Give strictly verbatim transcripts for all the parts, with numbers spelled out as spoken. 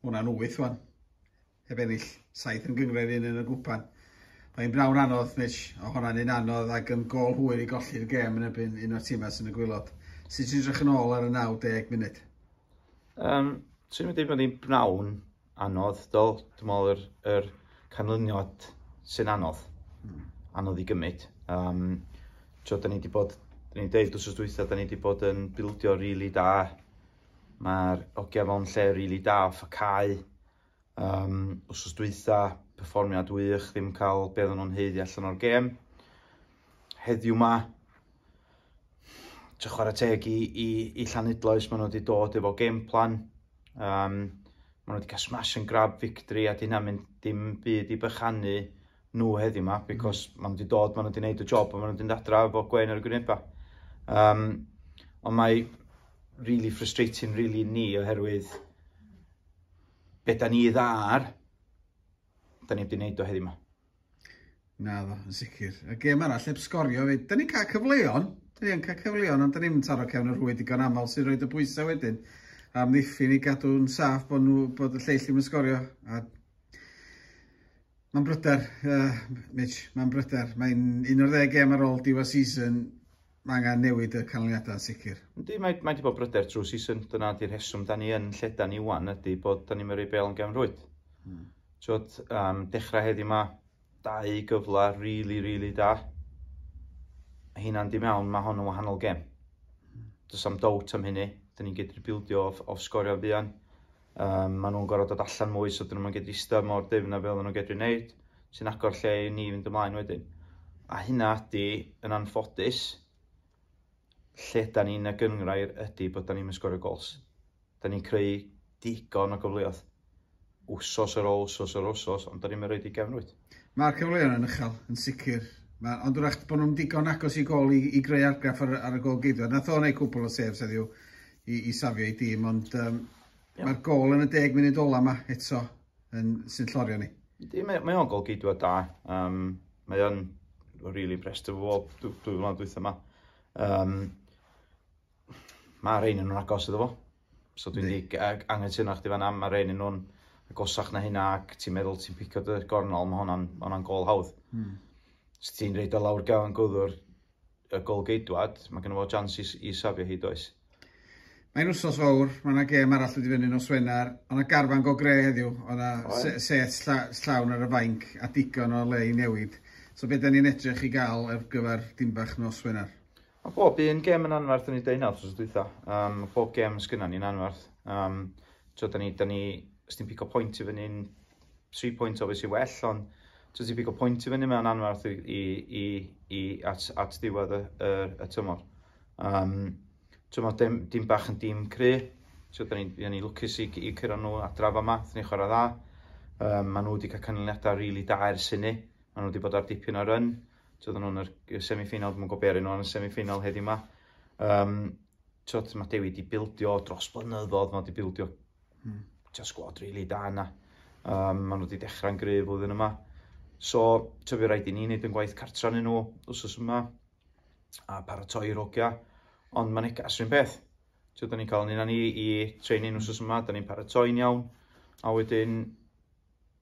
Hwna'n wyth wan. Heb ennill saith yn gynghrair, un yn y gwpan. Mae'n bnawn anodd, Mitch, o hwnna'n un anodd ac yn gol hwyr i golli'r gêm yn erbyn un o'r tîmau sy'n y gwaelod. Sut ti'n edrych yn ôl ar y naw deg munud? Um, Swn i'n dweud bod hi'n bnawn anodd, dol. Dwi'n meddwl yr, yr canlyniad sy'n anodd. Mm. Anodd i gymryd. Um, tio, da ni wedi bod, da ni'n deud wrth dwytha, da ni wedi bod yn bildio rili really da. Mae'r hogia mewn lle rili really da off y cae. Um, wsos dwytha, perfformiad wych, ddim cael be oedden nhw'n haeddu allan o'r gêm. Heddiw ma, ti'n chwarae teg i, i, i Llanidloes, maen nhw wedi dod efo game plan. Um, maen nhw wedi cael smash and grab victory a di hynna'n mynd dim byd i bychanu nhw heddiw ma, because mm. maen nhw wedi dod, maen nhw wedi gwneud y job a maen nhw wedi mynd adra efo gwen ar y gwyneba. Um, ond mae really frustrating really ni oherwydd be da ni dda ar, da ni wedi gwneud o heddiw ma. Na ddo, yn sicr. Y gêm arall heb sgorio fyd. Da ni'n cael cyfleon, da ni'n cael cyfleon, ond da ni'n taro cefn y rhwyd digon aml sy'n rhoi y bwysau wedyn. Am ddiffyn i gadw'n saff bod, nhw, bod y lleill ddim yn sgorio. A mae'n bryder, uh, Mitch, mae'n bryder. Mae'n un o'r ddeg gêm ar ôl diwedd season, mae angen newid y canlyniadau yn sicr. Yndi, mae, mae wedi bod bryder trwy season. Dyna di'r rheswm da ni yn lle da ni wan ydy bod da ni'n mynd bêl yn gefn rwyd. Hmm. Twod, um, dechrau heddiw ma, dau gyfle really, really da. Hynna'n di mewn, mae hon yn wahanol gêm. Does am doubt am hynny. Da ni'n gedru bildio off, off sgorio fuan. Um, maen nhw'n gorfod dod allan mwy, so dyn nhw'n gedru eistedd mor dyfn a fel nhw'n gedru wneud, sy'n agor lle i ni fynd ymlaen wedyn. A hynna ydy, yn anffodus, lle da ni'n y gynghrair ydy bod da ni'n sgorio gols. Da ni'n creu digon o gyfleoedd. Wsos ar ôl wsos ar wsos, ond da ni'n rhoid i gefn rwyd. Mae'r cyfleoedd yn uchel, yn sicr. Ma, ond wrach bod nhw'n digon agos i gol i, i greu argraff ar, ar y gol geidwad. Nath o wneud cwpl o saves heddiw i, i safio ei dîm, ond um, yeah. mae'r gol yn y deg munud ola yma eto yn, sy'n llorio ni. Yndi, mae, mae o'n gol geidwad da. Um, mae o'n really impressed efo fo dwy dwy flynedd dwytha yma. Um, mae rhain yn nhw'n agos iddo fo. So dwi'n di anghytuno chdi fan'na, mae rhain yn nhw'n agosach na hynna ac ti'n meddwl ti'n picio dy gornol, mae hwnna'n ma hwnna gol hawdd. Mm. Os ti'n rhoid o lawr gefn gwddw'r y gol geidwad, mae genno fo chance i, i safio hi, does? Mae'n wsos fawr, mae yna gêm arall wedi fyny nos Wener, ond yna garfan go gre heddiw, oedd yna se set lla, llawn ar y fainc a digon o le i newid. So be da ni'n edrych i gael ar gyfer Dimbach nos Wener? Mae bob un gêm yn anferth yn ei deud nawr wsos dwytha. Um, bob gêm sgynna ni'n anferth. Um, so, da ni, da ni, os ti'n pigo pwynt i fyny'n three point obviously well, ond so ti'n pigo pwynt i fyny, mae'n anferth i, i, i, i at, at ddiwedd y, y, y tymor. Um, so mae dim, dim bach yn dîm cry. So da ni, da ni lwcus i, i curo nhw adra fama, ni chwarae dda. Um, maen nhw wedi cael canlyniadau rili really da ers hynny. Maen nhw wedi bod ar dipyn o run. So, oedden nhw'n yr semi-final, dwi'n gwybod nhw yn y semi-final heddiw yma. Um, so, mae Dewi wedi bildio dros blynyddoedd, mae wedi bildio hmm. sgwad rili really da yna. Um, maen nhw wedi dechrau'n gryf flwyddyn yma. So, so fi rhaid i ni wneud yn gwaith cartra yn nhw wsos yma a paratoi i'r hogia. Ond mae'n negas rhywun peth. So, da ni'n cael un ni i training wsos yma, da ni'n paratoi'n iawn. A wedyn,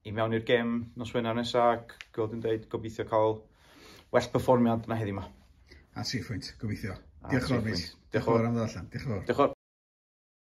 i mewn i'r gêm nos Wener nesaf, ac gweld yn dweud, gobeithio cael well perfformiad na heddiw yma. A tri phwynt, gobeithio. Diolch yn fawr, Mitch. Diolch yn fawr am ddod allan. Diolch yn fawr. Diolch yn fawr.